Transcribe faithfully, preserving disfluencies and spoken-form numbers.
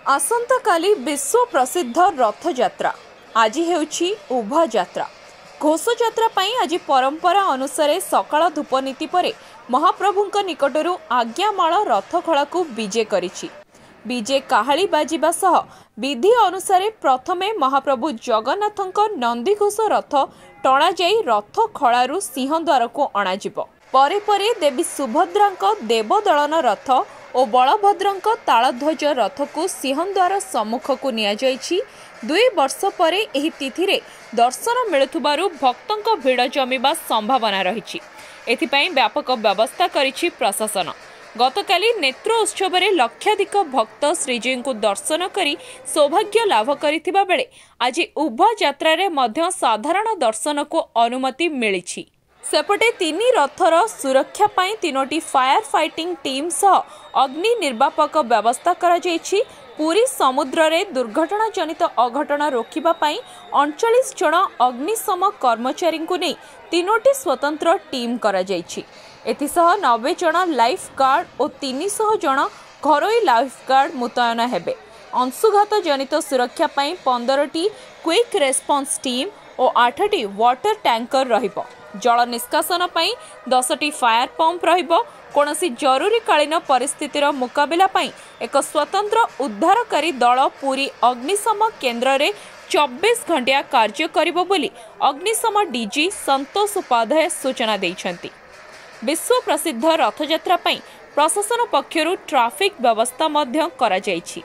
ଆସନ୍ତାକାଲି ବିଶ୍ୱ ପ୍ରସିଦ୍ଧ ରଥଯାତ୍ରା। ଆଜି ହେଉଛି ଉଭା ଯାତ୍ରା। ଘୋଷଯାତ୍ରା ପାଇଁ ଆଜି ପରମ୍ପରା ଅନୁସାରେ ସକାଳ ଧୂପ ନୀତି ପରେ ମହାପ୍ରଭୁଙ୍କ ନିକଟରୁ ଆଜ୍ଞାମାଳ ରଥଖଳାକୁ ବିଜେ କରିଛି। ବିଜେ କାହାଳି ବାଜିବା ସହ ବିଧି ଅନୁସାରେ ପ୍ରଥମେ ମହାପ୍ରଭୁ ଜଗନ୍ନାଥଙ୍କ ନନ୍ଦିଘୋଷ ରଥ ଟଣାଯାଇ ରଥଖଳାରୁ ସିଂହଦ୍ୱାରକୁ ଅଣାଯିବ। ପରେ ପରେ ଦେବୀ ସୁଭଦ୍ରାଙ୍କ ଦେବଦଳନ ରଥ ଓ ବଳଭଦ୍ରଙ୍କ ତାଳଧ୍ୱଜ ରଥକୁ ସିଂହଦ୍ୱାର ସମ୍ମୁଖକୁ ନିଆଯାଇଛି। ଦୁଇ ବର୍ଷ ପରେ ଏହି ତିଥିରେ ଦର୍ଶନ ମିଳୁଥିବାରୁ ଭକ୍ତଙ୍କ ଭିଡ଼ ଜମିବା ସମ୍ଭାବନା ରହିଛି। ଏଥିପାଇଁ ବ୍ୟାପକ ବ୍ୟବସ୍ଥା କରିଛି ପ୍ରଶାସନ। ଗତକାଲି ନେତ୍ର ଉତ୍ସବରେ ଲକ୍ଷାଧିକ ଭକ୍ତ ଶ୍ରୀଜୀଉଙ୍କୁ ଦର୍ଶନ କରି ସୌଭାଗ୍ୟ ଲାଭ କରିଥିବା ବେଳେ ଆଜି ଉଭା ଯାତ୍ରାରେ ମଧ୍ୟ ସାଧାରଣ ଦର୍ଶନକୁ ଅନୁମତି ମିଳିଛି। ସେପଟେ ତିନି ରଥର ସୁରକ୍ଷା ପାଇଁ ତିନୋଟି ଫାୟାର ଫାଇଟିଂ ଟିମ୍ ସହ ଅଗ୍ନି ନିର୍ବାପକ ବ୍ୟବସ୍ଥା କରାଯାଇଛି। ପୁରୀ ସମୁଦ୍ରରେ ଦୁର୍ଘଟଣାଜନିତ ଅଘଟଣ ରୋକିବା ପାଇଁ ଅଣଚାଳିଶ ଜଣ ଅଗ୍ନିଶମ କର୍ମଚାରୀଙ୍କୁ ନେଇ ତିନୋଟି ସ୍ୱତନ୍ତ୍ର ଟିମ୍ କରାଯାଇଛି। ଏଥିସହ ନବେ ଜଣ ଲାଇଫ୍ ଗାର୍ଡ ଓ ତିନିଶହ ଜଣ ଘରୋଇ ଲାଇଫ୍ ଗାର୍ଡ ମୁତୟନ ହେବେ। ଅଂଶୁଘାତ ଜନିତ ସୁରକ୍ଷା ପାଇଁ ପନ୍ଦରଟି କ୍ୱିକ୍ ରେସ୍ପନ୍ସ ଟିମ୍ ଓ ଆଠଟି ୱାଟର ଟ୍ୟାଙ୍କର ରହିବ। ଜଳ ନିଷ୍କାସନ ପାଇଁ ଦଶଟି ଫାୟାର ପମ୍ପ ରହିବ। କୌଣସି ଜରୁରୀକାଳୀନ ପରିସ୍ଥିତିର ମୁକାବିଲା ପାଇଁ ଏକ ସ୍ୱତନ୍ତ୍ର ଉଦ୍ଧାରକାରୀ ଦଳ ପୁରୀ ଅଗ୍ନିଶମ କେନ୍ଦ୍ରରେ ଚବିଶ ଘଣ୍ଟିଆ କାର୍ଯ୍ୟ କରିବ ବୋଲି ଅଗ୍ନିଶମ ଡିଜି ସନ୍ତୋଷ ଉପାଧ୍ୟାୟ ସୂଚନା ଦେଇଛନ୍ତି। ବିଶ୍ୱ ପ୍ରସିଦ୍ଧ ରଥଯାତ୍ରା ପାଇଁ ପ୍ରଶାସନ ପକ୍ଷରୁ ଟ୍ରାଫିକ୍ ବ୍ୟବସ୍ଥା ମଧ୍ୟ କରାଯାଇଛି।